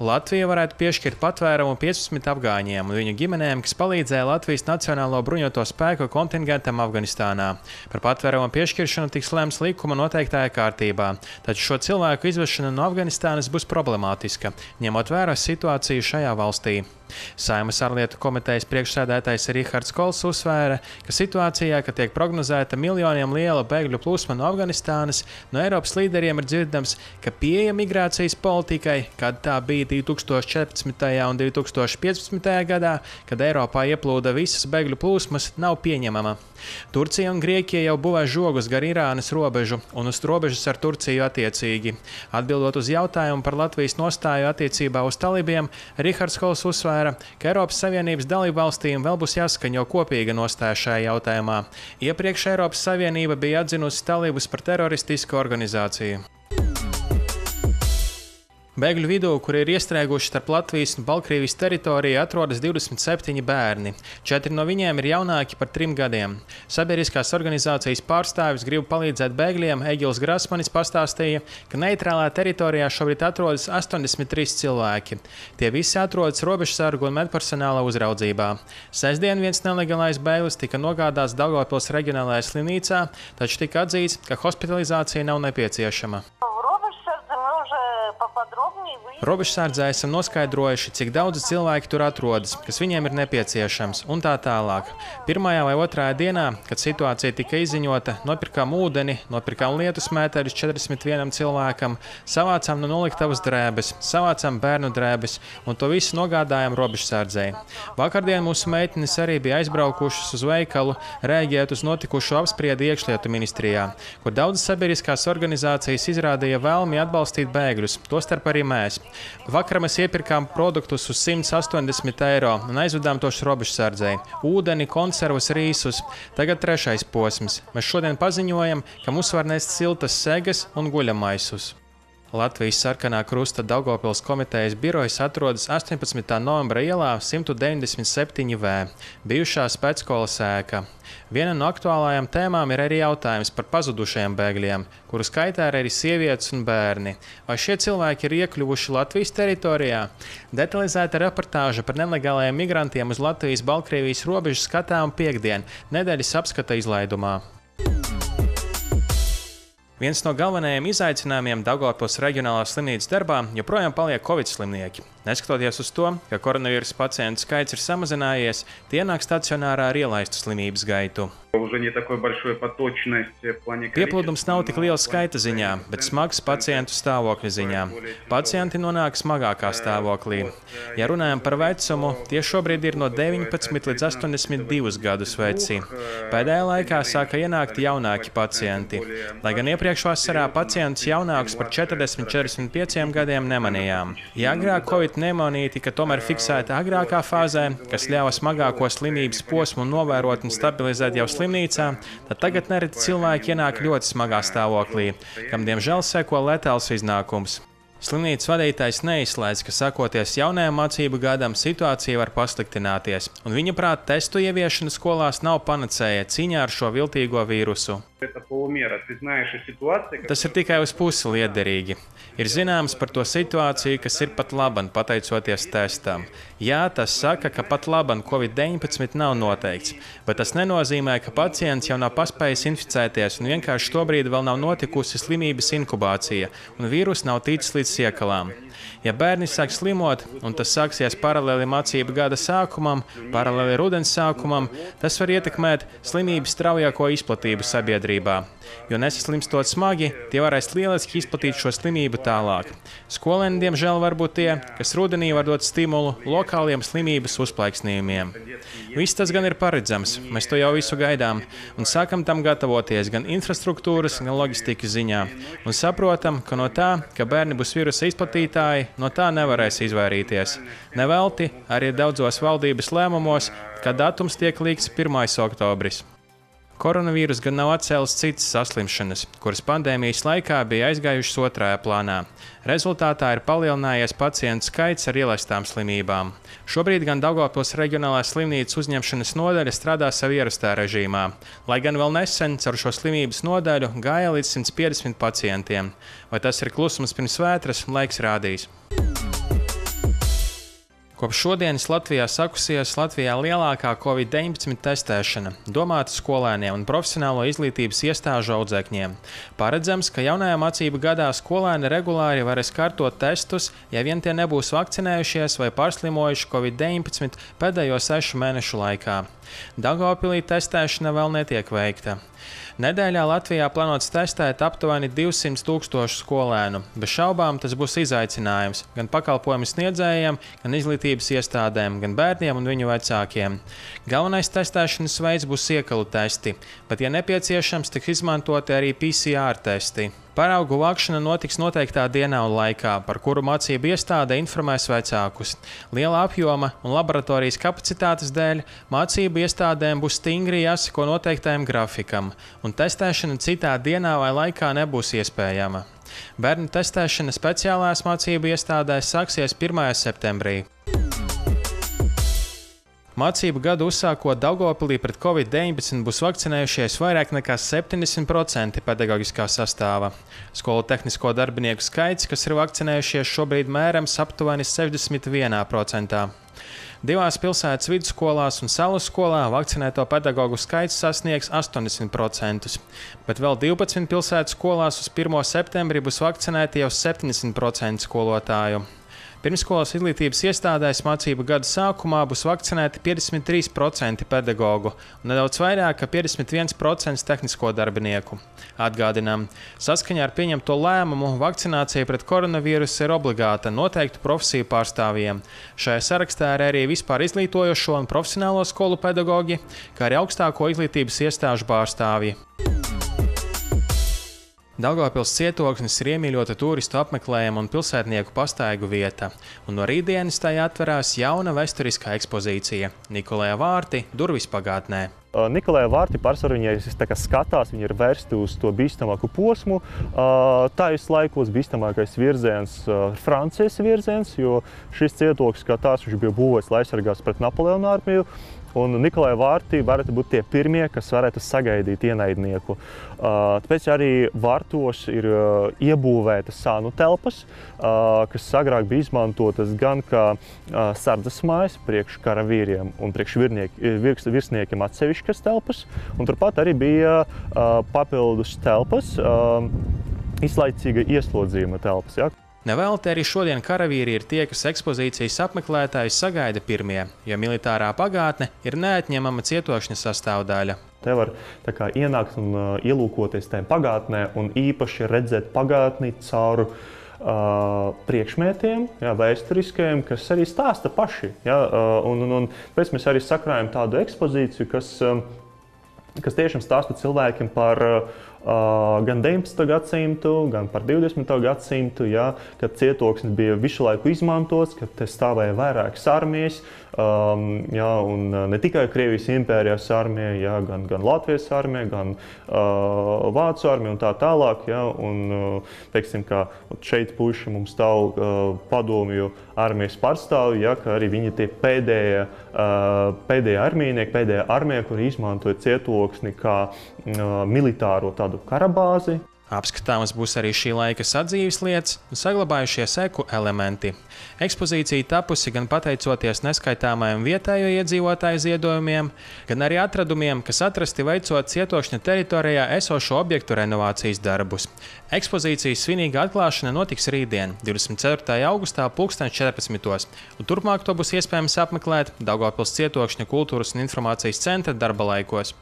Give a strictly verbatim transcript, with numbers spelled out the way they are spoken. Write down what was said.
Latvija varētu piešķirt patvērumu piecpadsmit afgāņiem un viņu ģimenēm, kas palīdzēja Latvijas Nacionālo bruņoto spēku kontingentam Afganistānā. Par patvērumu piešķiršanu tiks lemts likuma noteiktajā kārtībā, taču šo cilvēku izvešana no Afganistānas būs problemātiska, ņemot vērā situāciju šajā valstī. Saeimas ārlietu komitejas priekšsēdētājs Rihards Kols uzsvēra, ka situācijā, kad tiek prognozēta miljoniem liela bēgļu plūsma no Afganistānas, no Eiropas līderiem ir dzirdams, ka pieeja migrācijas politikai, kad tā bija divi tūkstoši četrpadsmitajā un divi tūkstoši piecpadsmitajā gadā, kad Eiropā ieplūda visas bēgļu plūsmas, nav pieņemama. Turcija un Grieķija jau būvē žogus gar Irānas robežu un uz robežas ar Turciju attiecīgi. Atbildot uz jautājumu par Latvijas nostāju attiecībā uz talibiem, Rihards Kols uzsvēra, ka Eiropas Savienības dalībvalstīm vēl būs jāskaņo kopīga nostāja šajā jautājumā. Iepriekš Eiropas Savienība bija atzinusi talibus par teroristisku organizāciju. Bēgļu vidū, kuri ir iestrēguši starp Latvijas un Baltkrievijas teritoriju, atrodas divdesmit septiņi bērni. Četri no viņiem ir jaunāki par trim gadiem. Sabiedriskās organizācijas pārstāvis grib palīdzēt bēgļiem. Egils Grasmanis pastāstīja, ka neitrālā teritorijā šobrīd atrodas astoņdesmit trīs cilvēki. Tie visi atrodas robežsargu un medpersonāla uzraudzībā. Sestdien viens nelegālais bēglis tika nogādāts Daugavpils reģionālajā slimnīcā, taču tika atzīts, ka hospitalizācija nav nepieciešama. Robežsardzē esam noskaidrojuši, cik daudz cilvēki tur atrodas, kas viņiem ir nepieciešams, un tā tālāk. Pirmajā vai otrajā dienā, kad situācija tika izziņota, nopirkām ūdeni, nopirkām lietus mētērus četrdesmit vienam cilvēkam, savācām no noliktavas drēbes, savācām bērnu drēbes, un to visu nogādājām robežsardzei. Vakardien mūsu meitenes arī bija aizbraukušas uz veikalu, rēģējot uz notikušo apspriedi iekšlietu ministrijā, kur daudzas sabiedriskās organizācijas izrādīja vēlmi atbalstīt bēgļus, tostarp arī mēs. Vakar mēs iepirkām produktus uz simt astoņdesmit eiro un aizvedām tos robežsardzei. Ūdeni, konservus, rīsus. Tagad trešais posms. Mēs šodien paziņojam, ka mums var nest siltas segas un guļamaisus. Latvijas Sarkanā Krusta Daugavpils komitejas birojas atrodas astoņpadsmitā novembra ielā simt deviņdesmit septiņi V, bijušā spēcskolas ēka. Viena no aktuālajām tēmām ir arī jautājums par pazudušajiem bēgļiem, kuru skaitā ir arī sievietes un bērni. Vai šie cilvēki ir iekļuvuši Latvijas teritorijā? Detalizēta reportāža par nelegālajiem migrantiem uz Latvijas-Baltkrievijas robežas skatām piekdien, nedēļas apskata izlaidumā. Viens no galvenajiem izaicinājumiem Daugavpils reģionālās slimnīcas darbā joprojām paliek covid slimnieki. Neskatoties uz to, ka koronavīrusa pacientu skaits ir samazinājies, tie nāk stacionārā ar ielaistu slimības gaitu. Pieplūdums nav tik liels skaita ziņā, bet smags pacientu stāvokļa ziņā. Pacienti nonāk smagākā stāvoklī. Ja runājam par vecumu, tie šobrīd ir no deviņpadsmit līdz astoņdesmit divus gadus veci. Pēdējā laikā sāka ienākt jaunāki pacienti. Lai gan iepriekš vasarā pacientus jaunākus par četrdesmit līdz četrdesmit pieciem gadiem nemanījām. Ja agrāk covid pneimonija tika tomēr fiksēta agrākā fāzē, kas ļāva smagāko slimības posmu novērot un stabilizēt jau slimnīcā, tad tagad nereti cilvēki ienāk ļoti smagā stāvoklī, kam diemžēl seko letāls iznākums. Slimnīcas vadītājs neizslēdz, ka sakoties jaunajam mācību gadam, situācija var pasliktināties, un viņa prāt testu ieviešana skolās nav panacēja cīņā ar šo viltīgo vīrusu. Tas ir tikai uz pusi liederīgi. Ir zināms par to situāciju, kas ir pat laban, pateicoties testam. Jā, tas saka, ka pat laban covid deviņpadsmit nav noteikts, bet tas nenozīmē, ka pacients jau nav paspējis inficēties un vienkārši šobrīd vēl nav notikusi slimības inkubācija, un vīrus nav ticis līdz siekalām. Ja bērni sāk slimot, un tas sāksies paralēli mācību gada sākumam, paralēli rudens sākumam, tas var ietekmēt slimības straujāko izplatību sabiedrībā. Jo nesaslimstot smagi, tie varēs lieliski izplatīt šo slimību tālāk. Skolēni, diemžēl, var būt tie, kas rudenī var dot stimulu lokāliem slimības uzplaiksnījumiem. Viss tas gan ir paredzams, mēs to jau visu gaidām, un sākam tam gatavoties gan infrastruktūras, gan loģistikas ziņā. Un saprotam, ka no tā, ka bērni būs virusa izplatītāji, no tā nevarēs izvairīties. Nevelti arī daudzos valdības lēmumos, kad datums tiek likts pirmais oktobris. Koronavīrus gan nav atcēlis citas saslimšanas, kuras pandēmijas laikā bija aizgājušas otrajā plānā. Rezultātā ir palielinājies pacientu skaits ar ielaistām slimībām. Šobrīd gan Daugavpils reģionālās slimnīcas uzņemšanas nodaļa strādā savu ierastā režīmā, lai gan vēl nesen caur šo slimības nodaļu gāja līdz simt piecdesmit pacientiem. Vai tas ir klusums pirms vētras, laiks rādīs. Kopš šodienas Latvijā sakusies Latvijā lielākā covid deviņpadsmit testēšana, domāta skolēniem un profesionālo izglītības iestāžu audzēkņiem. Paredzams, ka jaunajā mācību gadā skolēni regulāri varēs kārtot testus, ja vien tie nebūs vakcinējušies vai pārslimojuši covid deviņpadsmit pēdējo sešu mēnešu laikā. Daugavpilī testēšana vēl netiek veikta. Nedēļā Latvijā plānots testēt aptuveni divsimt tūkstošu skolēnu. Bez šaubām tas būs izaicinājums gan pakalpojumu sniedzējiem, gan izglītības iestādēm, gan bērniem un viņu vecākiem. Galvenais testēšanas veids būs iekalu testi, bet, ja nepieciešams, tiks izmantoti arī P C R testi. Paraugu vākšana notiks noteiktā dienā un laikā, par kuru mācību iestāde informēs vecākus. Liela apjoma un laboratorijas kapacitātes dēļ mācību iestādēm būs stingri jāseko noteiktajam grafikam, un testēšana citā dienā vai laikā nebūs iespējama. Bērnu testēšana speciālās mācību iestādēs sāksies pirmajā septembrī. Mācību gadu uzsākot Daugavpilī pret covid deviņpadsmit būs vakcinējušies vairāk nekā septiņdesmit procenti pedagoģiskā sastāva. Skolu tehnisko darbinieku skaits, kas ir vakcinējušies, šobrīd mērams aptuveni sešdesmit vienā procentā. Divās pilsētas vidusskolās un salu skolā vakcinēto pedagoģu skaits sasniegs astoņdesmit procentus, bet vēl divpadsmit pilsētas skolās uz pirmo septembri būs vakcinēti jau septiņdesmit procenti skolotāju. Pirmsskolas izglītības iestādēs mācību gada sākumā būs vakcinēti piecdesmit trīs procenti pedagoģu un nedaudz vairāk kā piecdesmit viens procents tehnisko darbinieku. Atgādinām, saskaņā ar pieņemto lēmumu vakcinācija pret koronavīrusu ir obligāta noteiktu profesiju pārstāvjiem. Šajā sarakstā ir arī vispār izglītojošo un profesionālo skolu pedagoģi, kā arī augstāko izglītības iestāžu pārstāvji. Daugavpils cietoksnis ir iemīļota turistu apmeklējuma un pilsētnieku pastaigu vieta, un no rītdienas tajā atverās jauna vēsturiskā ekspozīcija – Nikolēja vārti durvis pagātnē. Nikolēja vārti pārsvarā viņi skatās, viņi ir vērsti uz to bīstamāku posmu. Tajos laikos bīstamākais virziens ir Francijas virziens, jo šis cietoksnis kā tāds viņš bija būvēts, lai aizsargās pret Napoleona armiju. Un Nikolēja vārti varētu būt tie pirmie, kas varētu sagaidīt ienaidnieku. Tāpēc arī vārtos ir iebūvētas sānu telpas, kas agrāk bija izmantotas gan kā sardzes mājas priekš karavīriem un priekš virsniekiem atsevišķas telpas. Un turpat arī bija papildus telpas, izlaicīga ieslodzījuma telpas. Ja? Nevelti arī šodien karavīri ir tie, kas ekspozīcijas apmeklētājus sagaida pirmie, jo militārā pagātne ir neatņemama cietokšņa sastāvdaļa. Te var tā kā ienākt un uh, ielūkoties tajā pagātnē un īpaši redzēt pagātni caur uh, priekšmetiem, jā, vēsturiskajiem, kas arī stāsta paši. Jā, uh, un, un, un pēc mēs arī sakrājam tādu ekspozīciju, kas, um, kas tiešām stāsta cilvēkiem par uh, Uh, gan deviņpadsmito gadsimtu, gan par divdesmito gadsimtu, ja, kad cietoksnis bija visu laiku izmantots, kad te stāvēja vairākas armijas, um, ja, un ne tikai Krievijas impērijas armija, ja, gan, gan Latvijas armija, gan uh, Vācu armija un tā tālāk. Ja, un, uh, teiksim, ka šeit puši mums stāv uh, padomju armijas pārstāvji, ja, ka arī viņi tie pēdējie, uh, pēdējie armijnieki, pēdējā armija, kuri izmantoja cietoksni kā uh, militāro tādu karabāzi. Apskatāmas būs arī šī laika sadzīves lietas un saglabājušies eku elementi. Ekspozīcija tapusi gan pateicoties neskaitāmajiem vietējo iedzīvotāju ziedojumiem, gan arī atradumiem, kas atrasti veicot cietokšņa teritorijā esošo objektu renovācijas darbus. Ekspozīcijas svinīga atklāšana notiks rītdien, divdesmit ceturtajā augustā pulksten četrpadsmitos, un turpmāk to būs iespējams apmeklēt Daugavpils cietokšņa kultūras un informācijas centra darba laikos.